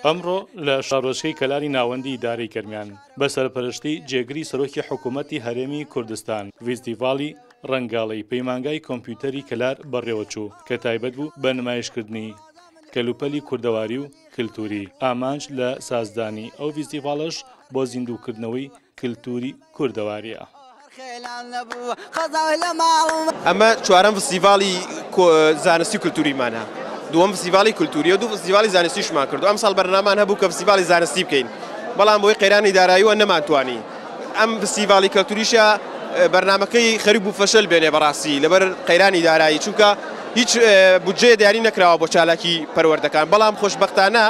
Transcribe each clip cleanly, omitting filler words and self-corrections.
ئەمڕۆ لە شارۆچکەی کەلاری ناوەندی ئیدارەی گەرمیان بە سەرپەرشتی جێگری سەرۆکی حکوومەتی هەرێمی کوردستان ڤیستیڤاڵی ڕەنگاڵەی پەیمانگای کۆمپیوتەری کەلار بەڕێوەچوو کە تایبەت بوو بە نمایشکردنی کەلوپەلی کوردەواری و کلتوری، ئامانج لە سازدانی ئەو ڤیستیڤاڵەش بۆ زیندووکردنەوەی کلتوری کوردەواریە. ئەمە چوارەم فستیڤاڵی زانستی و کلتوریمانە، دووەم فستیڤاڵی کلتوریە و دوو فستیڤاڵی زانستیشمان کردو ئەمساڵ بەرنامان هەبوو کە فستیڤاڵی زانستی بکەین بەڵام بۆی قەیرانی داراییوە نەمانتوانی ئەم فستیڤاڵی کەلتوریشە بەرنامەکەی خەریک بوو فەشەل بێنێ بەڕاستی لەبەر قەیرانی دارایی چونکە هیچ بودجەیە دیاری نەکراوە بۆ چالاکی پەروەردەکان بەڵام خۆشبەختانە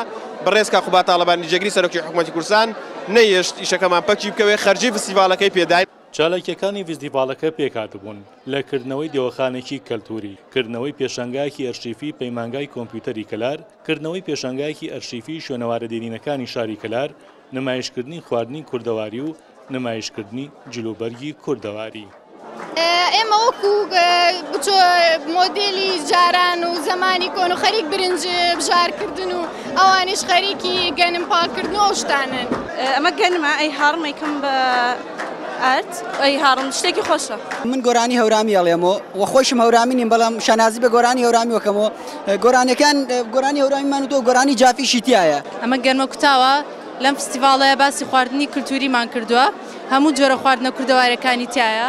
بەڕێز کاک قوباد تاڵەبانی جێگری سەرۆکی حکومەتی کوردستان نەیهێشت ئیشەکەمان پەکی بکەوێ خەرجی فستیڤاڵەکەی پێداین. چالاکییەکانی ڤیستیڤاڵەکە پێکهاتبوون لە کردنەوەی دێوەخانێکی کەلتووری، کردنەوەی پێشانگایەکی ئەرشیفی پەیمانگای کۆمپیوتەری کەلار، کردنەوەی پێشانگایەکی ئەرشیفی شوێنەوارە دێرینەکانی شاری کەلار، نمایشکردنی خواردنی کوردەواری و نمایشکردنی جلوبەرگی کوردەواری. ئێمە وەکو بچۆ مۆدێلی جاران و زەمانی کۆن و خەریک برنج بژارکردن و ئەوانیش خەریکی گەنم پاکردن و ئەو شتانەن. ئەمە گەنمە ئەی هاڕم ئەیکەم بە ئارد ئەی هاڕم شتێکی خۆشە. من گۆرانی هەورامی ئەڵێمەوە و خۆشم هەورامی نیم بەڵام شانازی بە گۆرانی هەورامی وەکەمەوە گۆرانیەکان گۆرانی هەورامیمان وتووە گۆرانی جافیشی تیایە. ئەمە گەنمە کوتاوە لەم فستیڤاڵەیا باسی خواردنی کلتوریمان کردووە هەموو جۆرە خواردنە کوردەوارەکانی تایە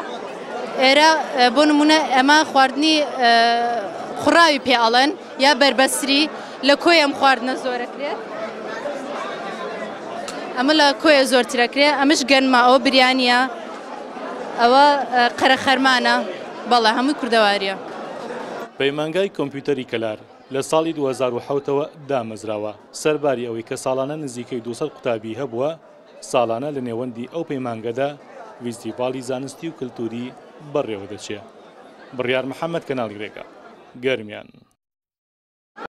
ئێرە بۆ نمونە ئەمە خواردنی خوڕاوی پێ ئەڵێن یا بەربەسری لە کۆی ئەم خواردنە زۆرەکرێت ئەمە لە کۆیە زۆرترەکرێ ئەمش گەنمە ئەوە بریانە ئەوە قەرەخەرمانە بەڵێ هەمووی کوردەواریە. پەیمانگای کۆمپیوتەری کەلار لە ساڵی 2007 ەوە دامەزراوە، سەرباری ئەوەی کە ساڵانە نزیکەی 200 قوتابی هەبووە، ساڵانە لە نێوەندی ئەو پەیمانگەدا ڤیستیڤاڵی زانستی و کلتوری بەڕێوەدەچێ. بڕیار محەمەد کەناڵی رێگا. گەرمیان.